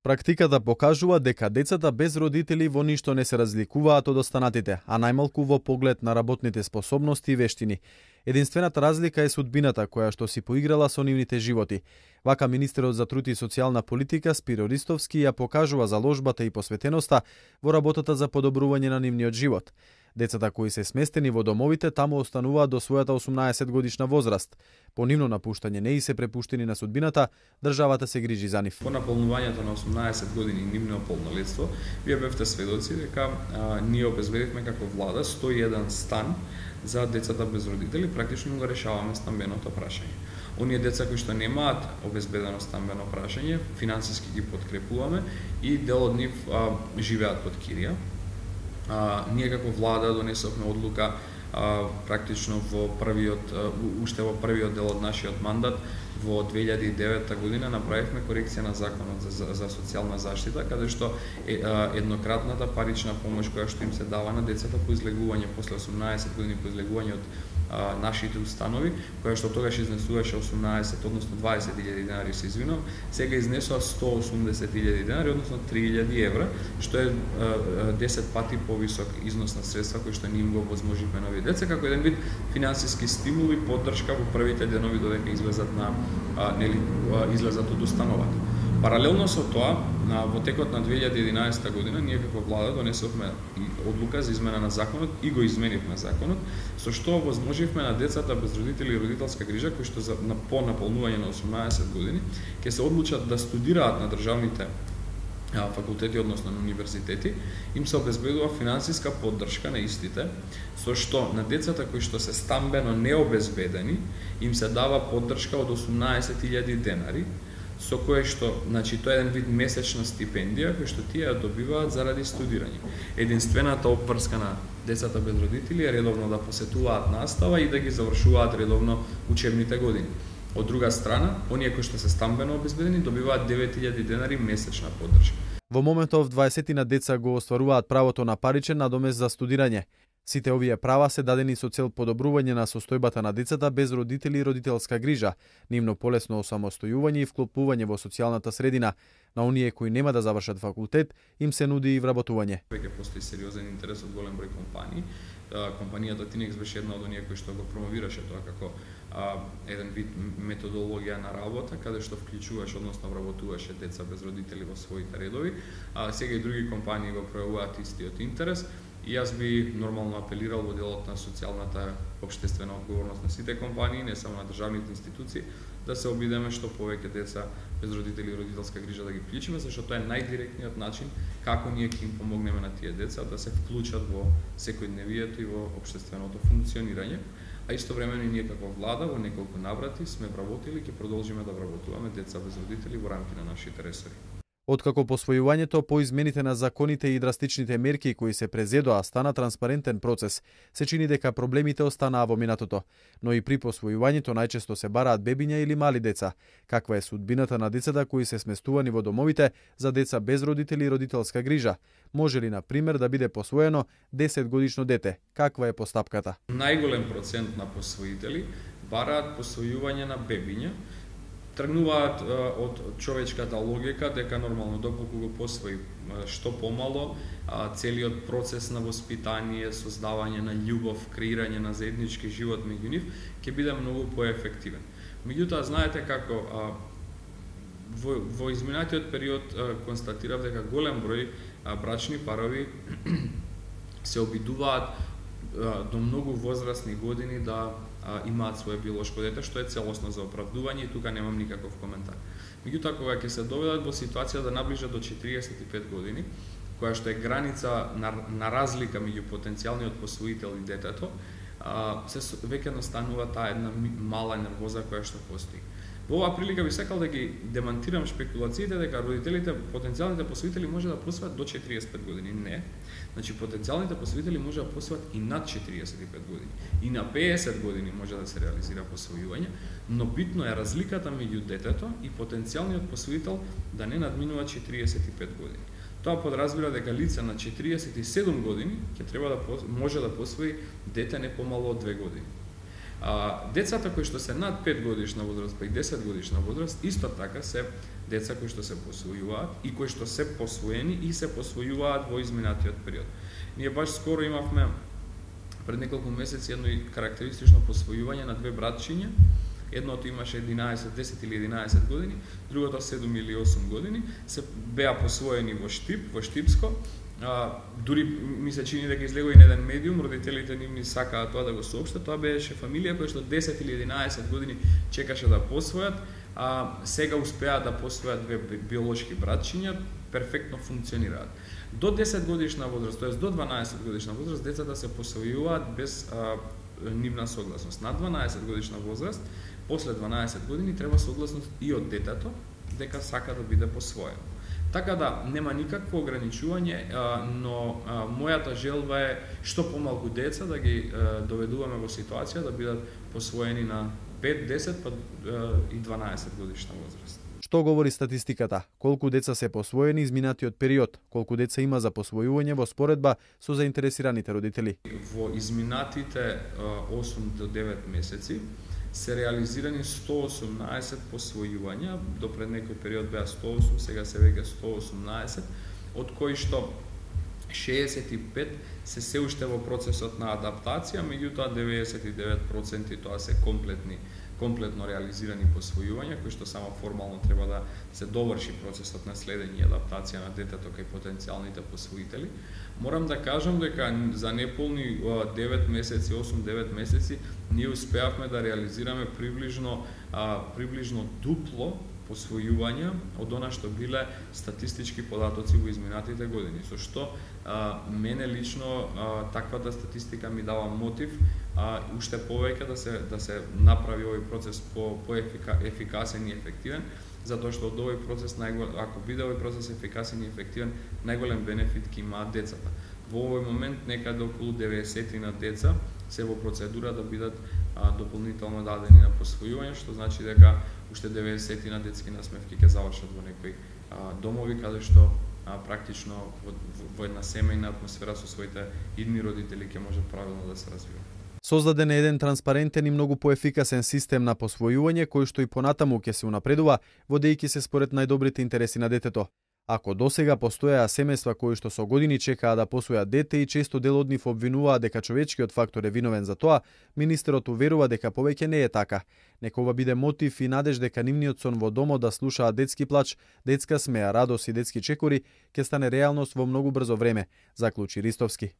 Практиката покажува дека децата без родители во ништо не се разликуваат од останатите, а најмалку во поглед на работните способности и вештини. Единствената разлика е судбината која што си поиграла со нивните животи. Вака министерот за труд и социјална политика Спиро Ристовски ја покажува заложбата и посветеноста во работата за подобрување на нивниот живот. Децата кои се сместени во домовите таму остануваат до својата 18 годишна возраст. По нивно напуштање не и се препуштени на судбината, државата се грижи за нив. По наполнувањето на 18 години нивно полнолетство, вие бевте сведоци дека ние обезбедивме како влада 101 стан за децата без родители, практично го решаваме стамбеното прашање. Оние деца кои што немаат обезбедено стамбено прашање, финансиски ги подкрепуваме и дел од нив живеат под кирија. Ние како влада донесовме одлука практично уште во првиот дел од нашиот мандат во 2009 година направивме корекција на законот за социјална заштита, каде што еднократната парична помош која што им се дава на децата по излегување после 18 години по излегување од нашите установи, која што тогаш изнесуваше 18, односно 20.000 денари, се извинувам, сега изнесува 180.000 денари, односно 3.000 евра, што е 10 пати повисок износ на средства кои што ние им го возможивме на овие деца, како еден вид финансиски стимул и поддршка во првите денови додека излезат од установата. Паралелно со тоа, во текот на 2011 година, ние како влада донесовме одлука за измена на законот и го изменивме законот, со што возможивме на децата без родители и родителска грижа, кои што по наполнување на 18 години, ќе се одлучат да студираат на државните факултети, односно на универзитети, им се обезбедува финансиска поддршка на истите, со што на децата кои што се стамбено необезбедени, им се дава поддршка од 18.000 денари, со кое што, значи, тоа е еден вид месечна стипендија која што тие ја добиваат заради студирање. Единствената обврска на децата без родители е редовно да посетуваат настава и да ги завршуваат редовно учебните години. Од друга страна, оние кои што се стамбено обезбедени добиваат 9.000 денари месечна поддршка. Во моментов 20 деца го остваруваат правото на паричен надомест за студирање. Сите овие права се дадени со цел подобрување на состојбата на децата без родители и родителска грижа, нивно полесно осамостојување и вклопување во социјалната средина. На оние кои нема да завршат факултет, им се нуди и вработување. Веќе постои сериозен интерес од голем број компании. Компанијата Тинекс беше една од оние кои што го промовираше тоа како еден вид методологија на работа, каде што вклучуваше, односно вработуваше деца без родители во своите редови. Сега и други компании го пројавуваат истиот интерес. И јас би нормално апелирал во делот на социјалната општествена одговорност на сите компании, не само на државните институции, да се обидеме што повеќе деца без родители и родителска грижа да ги вклучиме, зашто тоа е најдиректниот начин како ние ќе им помогнеме на тие деца да се вклучат во секојдневието и во општественото функционирање. А истовремено и ние како влада во неколку наврати сме вработили и ќе продолжиме да вработуваме деца без родители во рамки на нашите ресори. Откако посвојувањето по измените на законите и драстичните мерки кои се презедоа стана транспарентен процес, се чини дека проблемите останаа во минатото. Но и при посвојувањето најчесто се бараат бебиња или мали деца. Каква е судбината на децата кои се сместувани во домовите за деца без родители и родителска грижа? Може ли, на пример, да биде посвоено 10 годишно дете? Каква е постапката? Најголем процент на посвоители бараат посвојување на бебиња, тргнуваат од човечката логика дека нормално доколку го посвои што помало, целиот процес на воспитание, создавање на љубов, креирање на заеднички живот меѓу нив ќе биде многу поефективен. Меѓутоа, знаете како во изминатиот период констатирав дека голем број брачни парови се обидуваат до многу возрастни години да имаат свое биолошко дете, што е целосно за оправдување и тука немам никаков коментар. Меѓутоа, кога ќе се доведат во ситуација да наближат до 45 години, која што е граница на разлика меѓу потенцијалниот посвоител и детето, се веќе настанува таа една мала нервоза која што постои. Во оваа прилика би сакал да ги демантирам шпекулациите дека родителите, потенцијалните посвоители може да посвојат до 45 години. Не. Значи, потенцијалните посвоители може да посвојат и над 45 години. И на 50 години може да се реализира посвојување, но битно е разликата меѓу детето и потенцијалниот посвоител да не надминува 45 години. Тоа подразбира дека лице на 47 години ќе треба да може да посвои дете не помало од 2 години. Децата кои што се над 5 годишна возраст, па и 10 годишна возраст, исто така се деца кои што се посвојуваат и кои што се посвоени и се посвојуваат во изминатиот период. Ние баш скоро имавме пред неколку месеци едно карактеристично посвојување на две братчиња. Едното имаше 10 или 11 години, другото 7 или 8 години, се беа посвоени во Штип, во Штипско. Дури ми се чини дека излегува и на еден медиум, родителите нивни сакаа тоа да го соопштат. Тоа беше фамилија која што 10 или 11 години чекаше да посвојат, сега успеа да посвојат две биолошки братчиња, перфектно функционираат. До 10 годишна возраст, тоест до 12 годишна возраст, децата се посвојуваат без нивна согласност. На 12 годишна возраст, после 12 години треба согласност и од детето дека сака да биде посвоено. Така да нема никакво ограничување, но мојата желба е што помалку деца да ги доведуваме во ситуација да бидат посвоени на 5, 10 па и 12 годишна возраст. Што говори статистиката? Колку деца се посвоени изминатиот период? Колку деца има за посвојување во споредба со заинтересираните родители? Во изминатите 8 до 9 месеци се реализирани 118 посвојувања, до пред некој период беа 108, сега се веќе 118, од кои што 65 се уште во процесот на адаптација, меѓутоа 99% тоа се комплетно реализирани посвојувања, кои што само формално треба да се доврши процесот на следење и адаптација на детето кај потенцијалните посвоители. Морам да кажам дека за неполни 9 месеци, 8-9 месеци, ние успеавме да реализираме приближно дупло посвојувања од она што биле статистички податоци во изминатите години. Со што мене лично таквата статистика ми дава мотив уште повеќе да се направи овој процес ефикасен и ефективен, затоа што од овој процес ако биде овој процес ефикасен и ефективен, најголем бенефит ќе имаат децата. Во овој момент некаде околу 90 на деца се во процедура да бидат дополнително дадени на посвојување, што значи дека уште 90 на детски насмевки ќе завршат во некои домови каде што практично во една семејна атмосфера со своите идни родители ќе можат правилно да се развиваат. Создаден е еден транспарентен и многу поефикасен систем на посвојување кој што и понатаму ќе се унапредува, водејќи се според најдобрите интереси на детето. Ако досега постојаа семејства кои што со години чекаа да посвојат дете и често дел од нив обвинуваа дека човечкиот фактор е виновен за тоа, министерот уверува дека повеќе не е така. Нека ова биде мотив и надеж дека нивниот сон во домот да слушаат детски плач, детска смеа, радост и детски чекори ќе стане реалност во многу брзо време, заклучи Ристовски.